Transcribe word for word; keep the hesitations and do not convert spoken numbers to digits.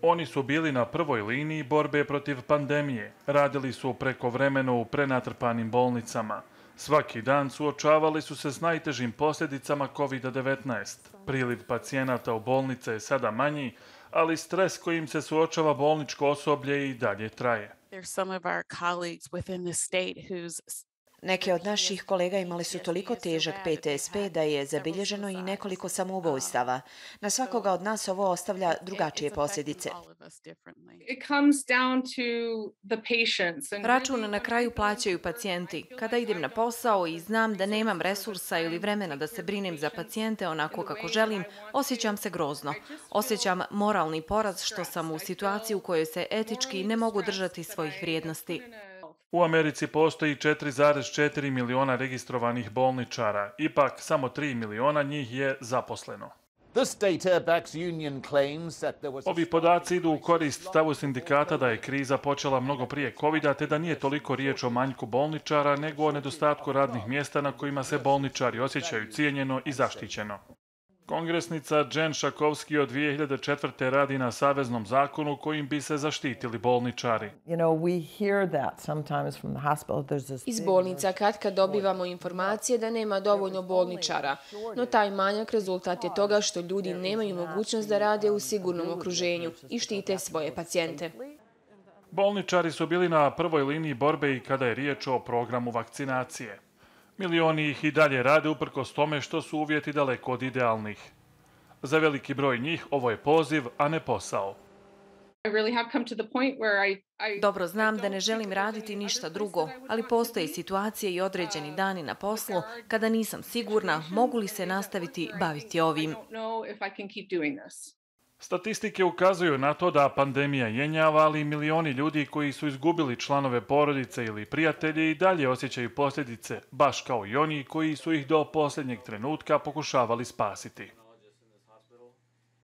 Oni su bili na prvoj liniji borbe protiv pandemije, radili su prekovremeno u prenatrpanim bolnicama. Svaki dan suočavali su se s najtežim posljedicama kovida devetnaest. Priliv pacijenata u bolnice je sada manji, ali stres kojim se suočava bolničko osoblje i dalje traje. Neki od naših kolega imali su toliko težak P T S P da je zabilježeno i nekoliko samoubojstava. Na svakoga od nas ovo ostavlja drugačije posljedice. Račun na kraju plaćaju pacijenti. Kada idem na posao i znam da nemam resursa ili vremena da se brinem za pacijente onako kako želim, osjećam se grozno. Osjećam moralni poraz što sam u situaciji u kojoj se etički ne mogu držati svojih vrijednosti. U Americi postoji četiri zarez četiri miliona registrovanih bolničara, ipak samo tri miliona njih je zaposleno. Ovi podaci idu u korist stavu sindikata da je kriza počela mnogo prije kovida, te da nije toliko riječ o manjku bolničara, nego o nedostatku radnih mjesta na kojima se bolničari osjećaju cijenjeno i zaštićeno. Kongresnica Jen Schakowsky od dvije hiljade četvrte. radi na saveznom zakonu kojim bi se zaštitili bolničari. Iz bolnica katkad dobivamo informacije da nema dovoljno bolničara, no taj manjak rezultat je toga što ljudi nemaju mogućnost da rade u sigurnom okruženju i štite svoje pacijente. Bolničari su bili na prvoj liniji borbe i kada je riječ o programu vakcinacije. Milioni ih i dalje rade uprkos tome što su uvjeti daleko od idealnih. Za veliki broj njih ovo je poziv, a ne posao. Dobro znam da ne želim raditi ništa drugo, ali postoje situacije i određeni dani na poslu kada nisam sigurna mogu li se nastaviti baviti ovim. Statistike ukazuju na to da pandemija jenjava, ali milioni ljudi koji su izgubili članove porodice ili prijatelje i dalje osjećaju posljedice, baš kao i oni koji su ih do posljednjeg trenutka pokušavali spasiti.